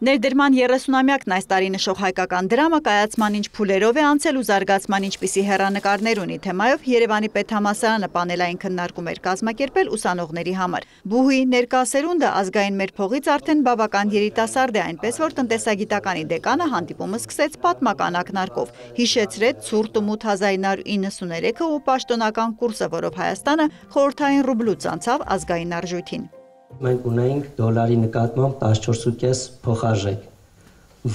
Ներդրման 30-ամյակն այս տարի նշող հայկական դրամը կայացման ինչ փուլերով է անցել ու զարգացման ինչպիսի հեռանկարներ ունի թեմայով Երևանի պետհամալսարանը պանելային քննարկում էր կազմակերպել ուսանողների համար։ Բուհի ներկա սերունդը ազգային մեր փողից արդեն բավական երիտասարդ է, այնպես որ տնտեսագիտականի դեկանը հանդիպումը սկսեց պատմական ակնարկով։ Հիշեցրեց ցուրտ ու մութ 1993-ը ու պաշտոնական կուրսը, որով Հայաստանը խորհրդային ռուբլուց անցավ ազգային արժույթին։ Մենք ունենք դոլարի նկատմամբ 14.5 փոխարժեք,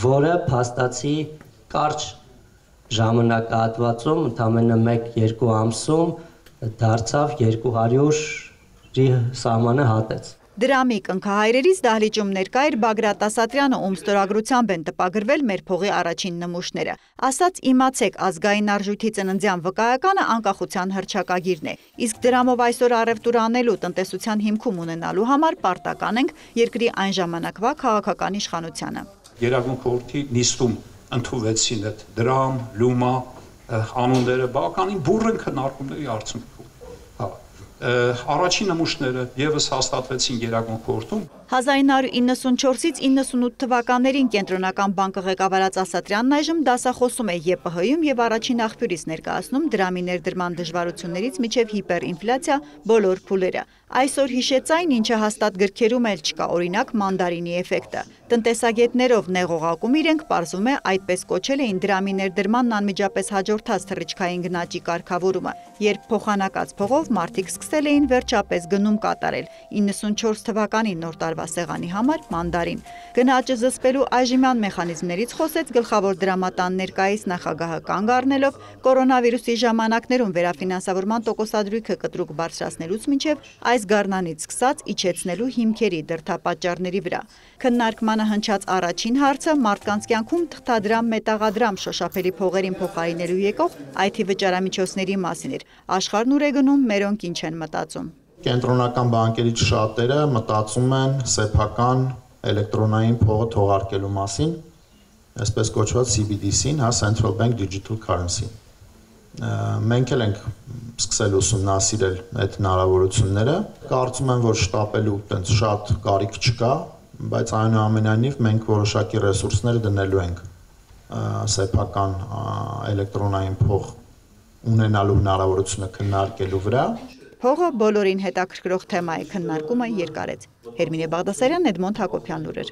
որը փաստացի կարճ ժամանակահատվածում, ընդամենը 1-2 ամսում դարձավ 200-ի սահմանը հատեց։ Դրամի կնքահայրերից դահլիճում ներկա էր Բագրատ Ասատրյանը, ում ստորագրությամբ են տպագրվել մեր փողի առաջին նմուշները։ Ասաց իմացեք, ազգային արժույթի ծննդյան վկայականը անկախության հռչակագիրն է։ Իսկ դրամով այսօր առևտուր անելու, տնտեսության հիմքում ունենալու համար պարտական ենք երկրի այն ժամանակվա քաղաքական իշխանությանը։ Գերագույն խորհրդի նիստում ընդունվեցին այդ դրամ, լումա անունները, բավականին բուռն քննարկումների արդյունքում։ Առաջին նմուշները ևս հաստատվեցին Գերագույն խորհրդում։ 1994-ից 98 թվականներին Կենտրոնական բանկը ղեկավարած Ասատրյանն այժմ դասախոսում է ԵՊՀ-ում եւ առաջին աղբյուրից ներկայացնում դրամի ներդրման դժվարություններից մինչեւ հիպերինֆլյացիա բոլոր փուլերը։ Այսօր հիշեց այն, ինչը հաստատ գրքերում էլ չկա, օրինակ մանդարինի էֆեկտը։ Տնտեսագետներով նեղողակում իրենք պարզում է այդպես կոչել էին դրամի ներդրմանն անմիջապես հաջորդած թռիչքային գնաճի կարգավորումը, երբ փոխանակած փողով մարդիկ սկսել էին վերջապես գնում կատարել 94 թվականի նոր տարվա սեղանի համար մանդարին։ Գնաճը զսպելու այժմյան մեխանիզմներից խոսեց գլխավոր դրամատան ներկայիս նախագահը, կանգ առնելով կորոնավիրուսի ժամանակներում վերաֆինանսավորման տոկոսադրույքը կտրուկ բարձրացնելուց մինչև այս գարնանից սկսած իջեցնելու հիմքերի դրդապատճառների վրա։ Քննարկմանը հնչած առաջին հարցը մարդկանց կյանքում թղթադրամ, մետաղադրամ շոշափելի փողերին փոխարինելու եկող IT վճարամիջոցների մասին էր։ Աշխարհն ուր է գնում, մերոնք ինչ են մտածում։ Կենտրոնական բանկերից շատերը մտածում են սեփական էլեկտրոնային փողը թողարկելու մասին, այսպես կոչված CBDC-ին, Central Bank Digital Currency։ Մենք էլ ենք սկսել ուսումնասիրել այդ հնարավորությունները։ Կարծում եմ, որ շտապելու այդպես շատ կարիք չկա, բայց այնուամենայնիվ մենք որոշակի ռեսուրսներ դնելու ենք սեփական էլեկտրոնային փող ունենալու հնարավորությունը քննարկելու վրա։ Փողը բոլորին հետաքրքրող թեմա է, քննարկումը երկարեց։ Հերմինե Բաղդասարյան, Էդմոնդ Հակոբյան լուրեր։